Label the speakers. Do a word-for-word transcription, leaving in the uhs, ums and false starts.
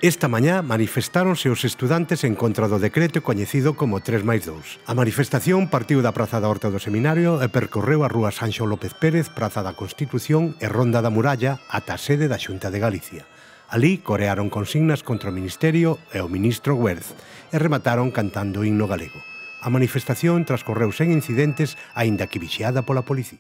Speaker 1: Esta mañá manifestáronse os estudantes en contra do decreto coñecido como tres máis dous. A manifestación partiu da Praza da Horta do Seminario e percorreu a rúa Sanxo López Pérez, Praza da Constitución e Ronda da Muralla ata a sede da Xunta de Galicia. Alí corearon consignas contra o Ministerio e o ministro Güerz e remataron cantando o himno galego. A manifestación transcorreu sen incidentes, aínda que vixiada pola policía.